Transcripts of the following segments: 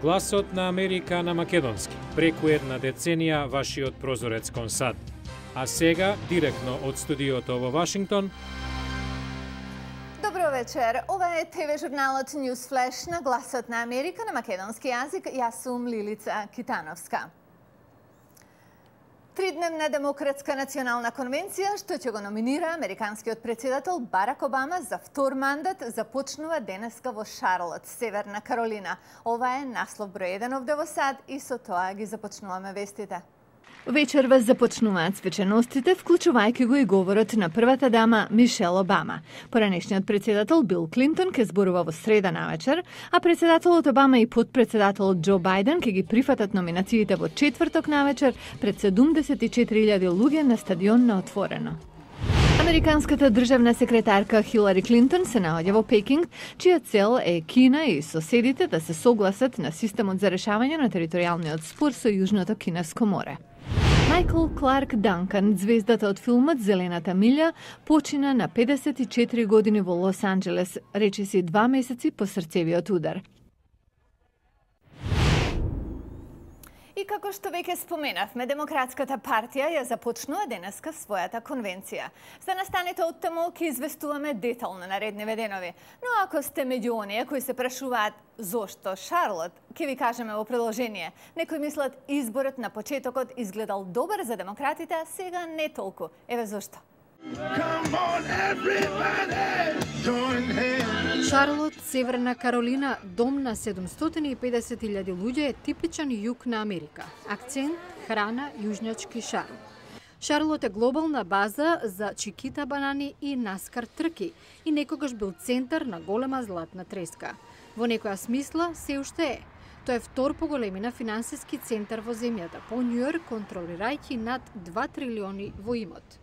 Гласот на Америка на македонски. Преку една деценија вашиот прозорец кон САД. А сега, директно од студиото во Вашингтон. Добро вечер. Ова е ТВ журналот News Flash на Гласот на Америка на македонски јазик. Јас сум Лилица Китановска. Тридневна демократска национална конвенција, што ќе го номинира американскиот претседател Барак Обама за втор мандат, започнува денеска во Шарлот, Северна Каролина. Ова е наслов број 1 овде во САД и со тоа ги започнуваме вестите. Вечерва започнуваат свеченостите, вклучувајќи го и говорот на првата дама Мишел Обама. Поранешниот претседател Бил Клинтон ќе зборува во среда навечер, а претседателот Обама и подпредседателот Џо Бајден ќе ги прифатат номинациите во четврток навечер пред 74.000 луѓе на стадион на отворено. Американската државна секретарка Хилари Клинтон се наоѓа во Пекинг, чија цел е Кина и соседите да се согласат на системот за решавање на територијалниот спор со Јужното Кинеско море. Майкл Кларк Данкан, звездата од филмот Зелената милја, почина на 54 години во Лос Анџелес, речиси 2 месеци по срцевиот удар. И како што веќе споменавме, Демократската партија ја започнува денеска својата конвенција. За настаните од таму ќе известуваме детално наредниве денови. Но ако сте меѓу оние кои се прашуваат зошто Шарлот, ќе ви кажеме во продолжение. Некои мислат изборот на почетокот изгледал добар за демократите, а сега не толку. Еве зошто. Шарлот, Северна Каролина, дом на 750.000 луѓе е типичен југ на Америка. Акцент, храна, јужњачки шарм. Шарлот е глобална база за чикита банани и наскар трки и некогаш бил центар на голема златна треска. Во некоја смисла се уште е. Тој е втор по големина финансиски центар во земјата, по Њујорк контролирајќи над 2 трилиони во имот.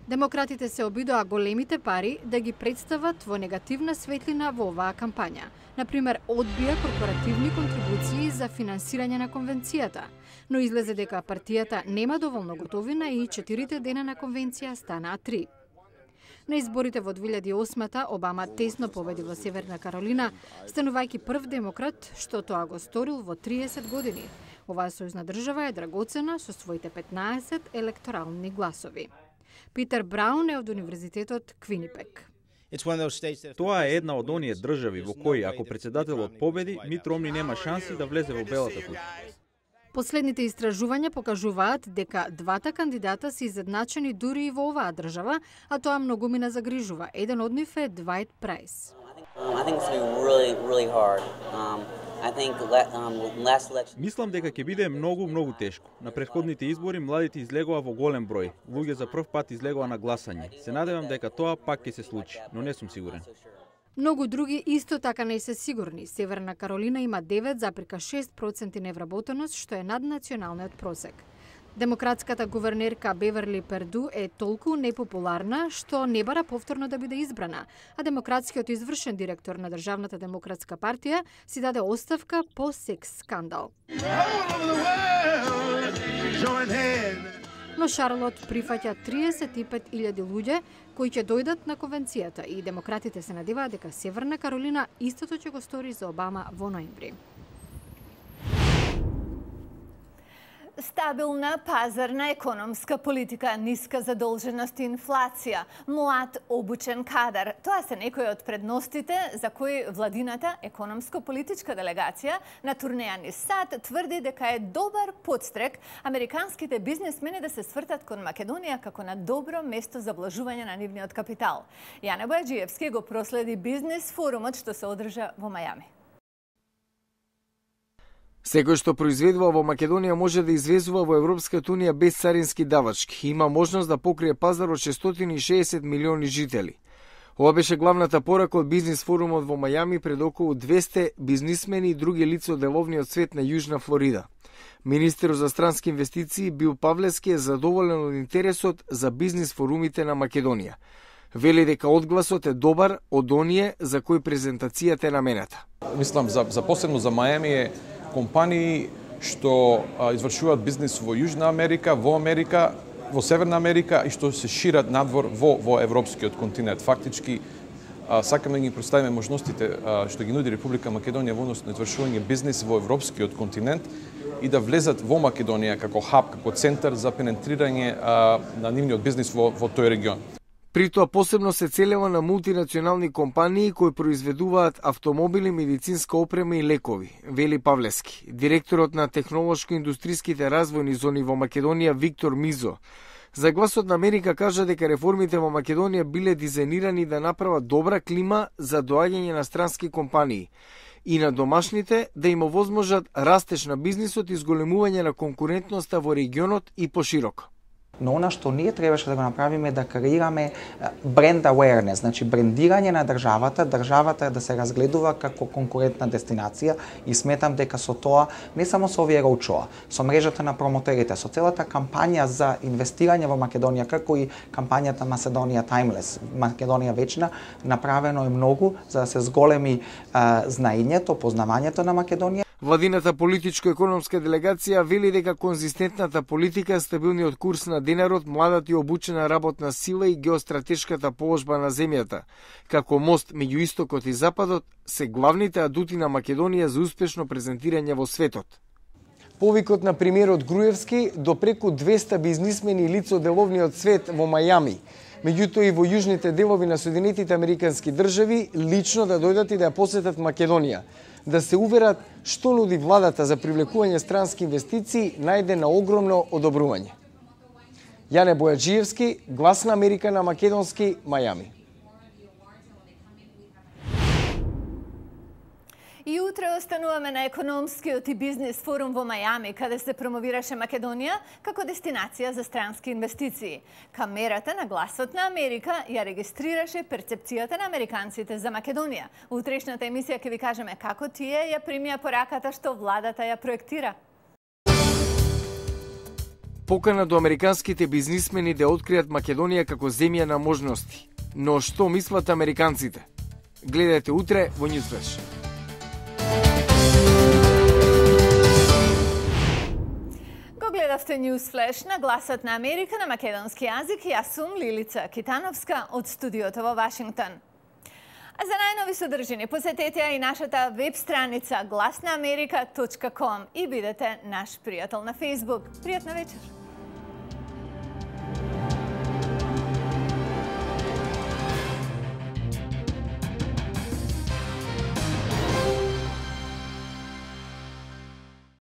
Демократите се обидоа големите пари да ги представат во негативна светлина во оваа кампања. Например, одбија корпоративни контрибуции за финансирање на конвенцијата, но излезе дека партијата нема доволно готовина и 4 дена на конвенција станаа 3. На изборите во 2008-та Обама тесно победи во Северна Каролина, станувајќи прв демократ што тоа го сторил во 30 години. Оваа сојузна држава е драгоцена со своите 15 електорални гласови. Питер Браун е од Универзитетот Квинипек. Тоа е една од оние држави во кои, ако председателот победи, Мит Ромни нема шанси да влезе во Белата куќа. Последните истражувања покажуваат дека двата кандидата се изедначени дури и во оваа држава, а тоа многумина загрижува. Еден од нив е Двајт Прајс. Мислам дека ќе биде многу тешко. На претходните избори младите излегоа во голем број. Луѓе за прв пат излегоа на гласање. Се надевам дека тоа пак ќе се случи, но не сум сигурен. Многу други исто така не се сигурни. Северна Каролина има 9,6% невработеност, што е над националниот просек. Демократската гувернерка Беверли Перду е толку непопуларна што не бара повторно да биде избрана, а демократскиот извршен директор на Државната демократска партија си даде оставка по секс скандал. Но Шарлот прифаќа 35.000 луѓе кои ќе дојдат на конвенцијата и демократите се надеваат дека Северна Каролина истото ќе го стори за Обама во ноември. Стабилна пазарна економска политика, ниска задолженост и инфлација, млад обучен кадар. Тоа се некои од предностите за кои владината економско-политичка делегација на турнеја низ САД тврди дека е добар подстрек американските бизнесмени да се свртат кон Македонија како на добро место за вложување на нивниот капитал. Јане Бојаджиевски го проследи бизнес форумот што се одржа во Мајами. Секој што произведува во Македонија може да извезува во Европската унија без царински давачки. Има можност да покрие пазар од 660 милиони жители. Ова беше главната порака од бизнес форумот во Мајами пред околу 200 бизнисмени и други лица од деловниот свет на Јужна Флорида. Министерот за странски инвестиции Бил Павлевски е задоволен од интересот за бизнес форумите на Македонија. Вели дека одгласот е добар од оние за кои презентацијата е намената. Мислам за посебно за Мајами е компании што извршуваат бизнис во Јужна Америка, во Америка, во Северна Америка и што се шират надвор во европскиот континент. Фактички сакаме да ги представиме можностите што ги нуди Република Македонија во однос на извршување бизнис во европскиот континент и да влезат во Македонија како хаб, како центар за пенетрирање на нивниот бизнис во тој регион. При тоа посебно се целева на мултинационални компании кои произведуваат автомобили, медицинска опрема и лекови, вели Павлески. Директорот на технолошко-индустријските развојни зони во Македонија Виктор Мизо за Гласот на Америка кажа дека реформите во Македонија биле дизајнирани да направат добра клима за доаѓање на странски компании и на домашните да им овозможат растеж на бизнисот и зголемување на конкурентноста во регионот и пошироко. Но она што ние требаше да го направиме е да креираме бренд awareness, значи брендирање на државата да се разгледува како конкурентна дестинација и сметам дека со тоа, не само со овие роучоа, со мрежата на промотерите, со целата кампања за инвестирање во Македонија, како и кампањата Macedоnia Timeless, Македонија вечна, направено е многу за да се зголеми знаењето, познавањето на Македонија. Владината политичко-економска делегација вели дека конзистентната политика, стабилниот курс на денарот, младата и обучена работна сила и геостратешката положба на земјата, како мост меѓу истокот и западот, се главните адути на Македонија за успешно презентирање во светот. Повикот на премиерот Груевски до преку 200 бизнисмени и лица од деловниот свет во Мајами, меѓутоа и во јужните делови на Соединетите Американски држави, лично да дојдат и да ја посетат Македонија, да се уверат што нуди владата за привлекување странски инвестиции, најде на огромно одобрување. Јане Бојаджиевски, Глас на Америка на македонски, Мајами. И утре остануваме на економскиот и бизнес форум во Мајами, каде се промовираше Македонија како дестинација за странски инвестиции. Камерата на Гласот на Америка ја регистрираше перцепцијата на американците за Македонија. Утрешната емисија ќе ви кажеме како тие ја примија пораката што владата ја проектира. Покана до американските бизнисмени да откријат Македонија како земја на можности. Но што мислат американците? Гледајте утре во Newsflash. Гледавте Newsflash на Гласот на Америка на македонски јазик. Јас сум Лилица Китановска од студиото во Вашингтон. А за најнови содржини посетете ја и нашата веб страница glasnaamerika.com и бидете наш пријател на Facebook. Пријатна вечер!